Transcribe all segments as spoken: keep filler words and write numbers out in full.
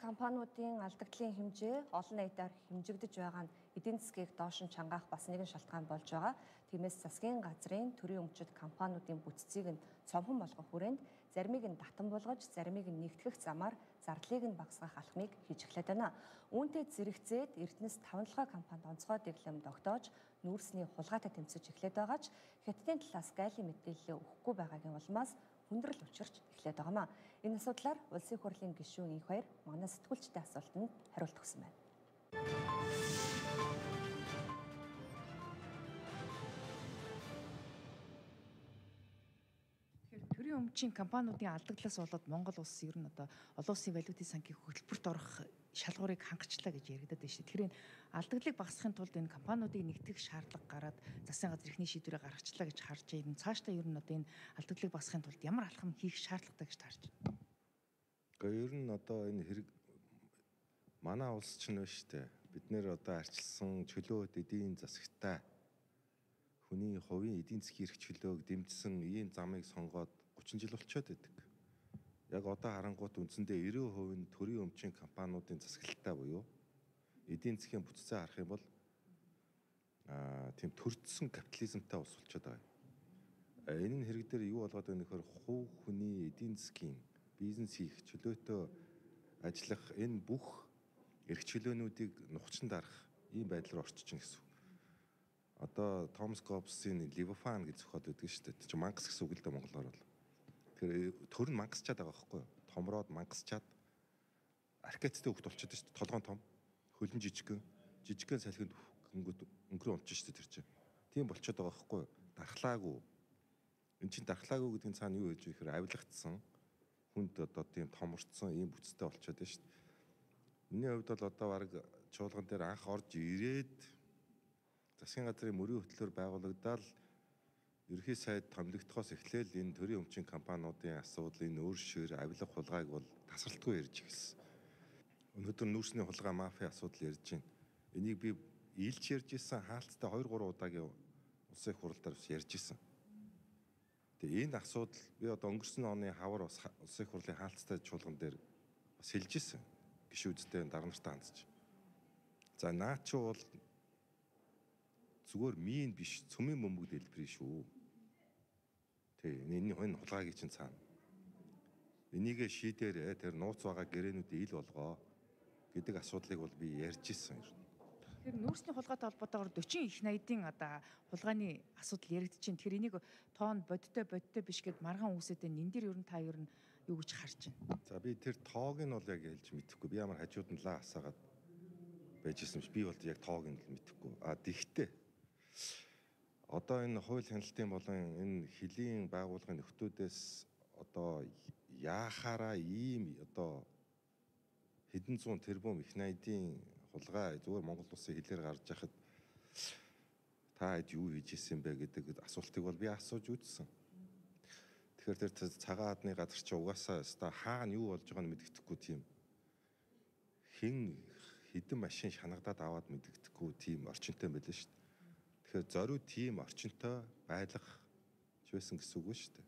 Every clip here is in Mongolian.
компаниудын алдагдлын хэмжээ олон нийтээр хэмжигдэж байгаа нь эдийн засгийг доош нь чангаах бас нэгэн шалтгаан болж байгаа. Тиймээс засгийн газрын төрийн өмчит компаниудын бүтцийг нь цомхон болгох хүрээнд заримыг нь татан болгож, заримыг нь нэгтгэх замаар зардлыг нь багасгах алхмыг хийж эхлэв байна. Үүнтэй зэрэгцээд Эрдэнэс таван компанид онцгой дэглэм тогтоож, нүүрсний хулгайтай тэмцэж эхлэв байгаач Хятадын талаас гайлын мэдээлэл өгөхгүй байгаагийн улмаас хүндрэл учирч эхлэв байгаамаа. Энэ асуудлаар улсын их хурлын гишүүн их баяр манай сэтгүүлчдийн асуултанд хариулт өгсөн байна. Төрийн өмчийн компаниудын алдагдлаас болоод Монгол улс ер нь одоо олон улсын валютын санхийг хөтөлбөрт орох шалгуурыг хангацлаа гэж яригадад байна шүү. Тэгэхээр энэ алдагдлыг багасгахын тулд энэ компаниудыг нэгтгэх шаардлага гараад засгийн газар ихний шийдвэрийг гаргачлаа гэж харж байна. Цаашдаа ер нь одоо энэ алдагдлыг багасгахын тулд ямар алхам хийх шаардлагатай гэж таарч байна. Гэхдээ ер нь одоо энэ хэрэг манай улс ч нэ штэ. Бид нэр одоо арчилсан чөлөөт эдийн засагтай хүний хувийн эдийн засгийн эрх чөлөөг дэмжсэн ийм замыг сонгоод гучин жил болчиход байдаг. Яг одоо харангуут үндсэндээ нব্бэ хувь нь төрийн өмчийн компаниудын засаглалтай буюу эдийн засгийн бүтцээ харах юм бол аа тийм төрдсөн капитализмтай улс болчиход байгаа. Энэ нь хэрэг дээр юу болоод байгаа нөхөр хувь хүний эдийн засгийн бизнес хийх чөлөөтэй ажиллах энэ бүх эрх чөлөөнүүдийг нухчин дарах ийм байдал руу орчихно гэсэн. Одоо Томас Гоббсын Левиафан гэж зохиод байдаг шүү дээ. Чи мангас гэсэн үг л дээ монголоор бол. Тэр төр нь мангасчаад байгаа байхгүй юу? Томроод мангасчаад архетиптэй хөвгт болчиход шүү дээ. Толгоон том, хөлн жижигхэн, жижигхэн салхинд өнгөд өнгөрөө унчих шүү дээ тэр чинь. Тийм болчиход байгаа байхгүй юу? Дархлаагүй. Энд чинь дархлаагүй гэдэг нь цаана юу хэлж вэ гэхээр авилгацсан хүнд одоо тийм томорцсон ийм бүтцтэй болчиход байна шүү дээ. Миний хувьд бол одоо баг чуулган дээр анх орж ирээд засгийн газрын мөрийн хөтлөөр байгуулагдаад ерхий сайд томилогдохоос эхлээл энэ төрийн өмчийн компаниудын асуудлын нүүр шир авилга хулгайг бол тасралтгүй ярьж эхэлсэн. Өнөөдөр нүүрсний хулгай мафия асуудал ярьж байна. Энийг би ийлж ярьж исэн хаалттай хоёр гурван удаагийн улсын их хурлаар бас ярьж исэн. Тэгээ энэ асуудал би одоо өнгөрсөн оны хавар бас улсын их хурлын хаалттай чуулган дээр бас хэлж исэн. Гишүүдтэй дарга нартай хандж. За наа чи бол зүгээр мийн биш цөмийн бөмбөг дэлбэр шүү. Тэ энэ энэ хулгайг чинь цаана. Энийг шийдээрээ тэр нууц байгаа гэрээнүүд ил болгоо гэдэг асуудлыг бол би ярьж исэн юм. Тэгэхээр нүүрсний хулгайтай холбоотойгоор forty их найдын одоо хулгайны асуудал яригдж байна. Тэгэхээр энийг тоон бодтой бодтой биш гэд маргаан үүсэт энэ дээр ер нь та ер нь юу гэж харж байна? За би тэр тоог нь бол яг хэлж мэдэхгүй. Би ямар хажууд нь лаа асаагаад байж исэн биш. Би бол яг тоог нь л мэдэхгүй. А тэгтээ одоо энэ хууль хяналтын болон энэ хөлийн байгууллагын нөхдүүдээс одоо яахаараа ийм одоо хэдэн зуун тэрбум их найдын хулгай зүгээр Монгол улсын хэлээр гарч яхад та хэд юу хийж исэн бэ гэдэг асуултыг бол би асууж үзсэн. Тэгэхээр тэр цагаан адны газар чи угаасаа өстой хаана юу болж байгааг нь мэддэхгүй тийм хэн хэдэн машин шанагдаад аваад мэддэхгүй тийм орчинтой байлаа шүү дээ. Тэгэхээр зориуд тийм орчинтой байлгах ч байсан гэсэн үг шүү дээ.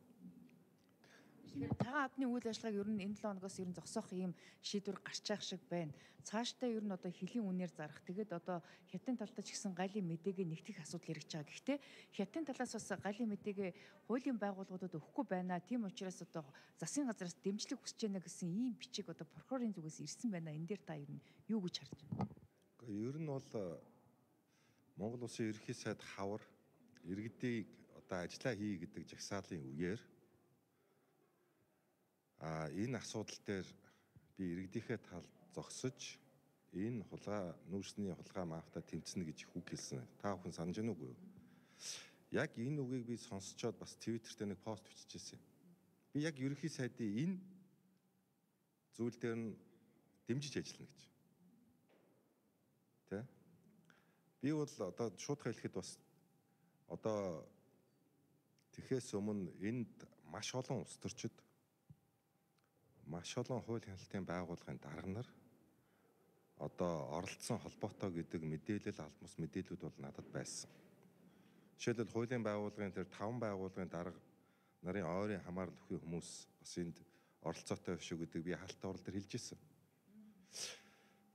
Тэгэхээр цагаан адны үйл ажиллагааг ер нь энэ долоо хоногоос ер нь зогсоох ийм шийдвэр гарч байгаа шиг байна. Цаашдаа ер нь одоо хөлийн үнээр зарах. Тэгээд одоо Хятадын талдаа ч гэсэн гайлын мэдээгээ нэгтгэх асуудал яригдж байгаа. Гэхдээ Хятадын талаас бас гайлын мэдээгээ хуулийн байгууллагуудад өгөхгүй байна. Тийм учраас одоо засгийн газраас дэмжлэг хүсэж байна гэсэн ийм бичиг одоо прокурорын зүгээс ирсэн байна. Энэ дээр та ер нь юу гэж харж байна? Гэхдээ ер нь бол Монгол улсын ерөнхий сайд хавар иргэдийг одоо ажиллаа хий гэдэг жагсаалын үеэр а энэ асуудал дээр би иргэдийнхээ талд зогсож энэ хулгай нүүрсний хулгай мафта тэмцэнэ гэж үг хэлсэн. Та бүхэн санаж байна уу? Яг энэ үгийг би сонсчоод бас Twitter дээр нэг пост бичижсэн. Би яг ерөнхий сайдын энэ зүйл дээр нь дэмжиж ажиллана гэж. Тэ? Би бол одоо шууд хэлэхэд бас одоо тэхээс өмнө энд маш олон улс төрчид маш олон хууль хяналтын байгууллагын дарга нар одоо оролцсон холбоотой гэдэг мэдээлэл алмас мэдээлүүд бол надад байсан. Жишээлбэл хуулийн байгууллагын тэр таван байгууллагын дарга нарын ойрын хамаарал өгөх хүмүүс бас энд оролцоотой биш үү гэдэг би хаалттай урал дээр хэлж ирсэн.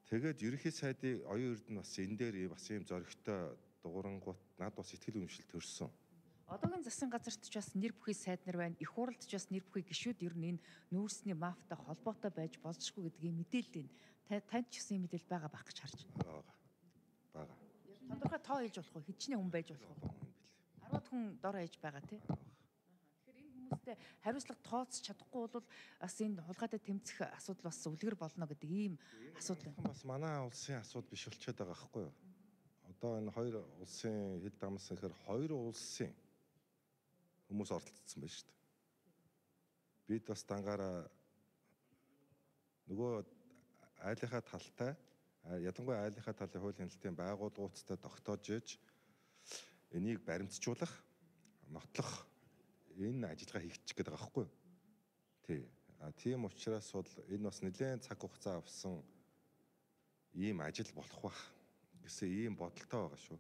Тэгээд ерөнхий сайдын оюун эрд нь бас энэ дээр бас ийм зоригтой дуурангууд над бас сэтгэл үнэмшил төрсөн. Одоогийн засгийн газарт ч бас нэр бүхий сайд нар байна. Их хурлд ч бас нэр бүхий гишүүд ер нь энэ нүүрсний мафтай холбоотой байж болзошгүй гэдгийг мэдээлэл энэ. Танд ч гэсэн юм мэдээлэл байгаа байх гэж харж байгаа. Бага. Тодорхой тоо хийж болох уу? Хэдчний хүн байж болох уу? арваад хүн дор хаяж байгаа тий. Тэгэхээр энэ хүмүүстэй хариуцлага тооцож чадахгүй бол бас энэ хулгайтай тэмцэх асуудал бас үлгэр болно гэдэг ийм асуудал байна. Бас манай улсын асуудал биш болчиход байгаа байхгүй юу? Одоо энэ хоёр улсын хэд дамс гэхээр хоёр улсын хүмүүс оролцсон байна шүү дээ. Бид бас дангаараа нөгөө айлынхаа талтай ялангуяа айлынхаа талын хууль хяналтын байгууллагуудтай тогтоож иж энийг баримтжуулах, нотлох энэ ажиллагаа хийчих гээд байгаа байхгүй юу? Тий. А тийм учраас бол энэ бас нэлээд цаг хугацаа авсан ийм ажил болох бах гэсэн ийм бодолтой байгаа шүү.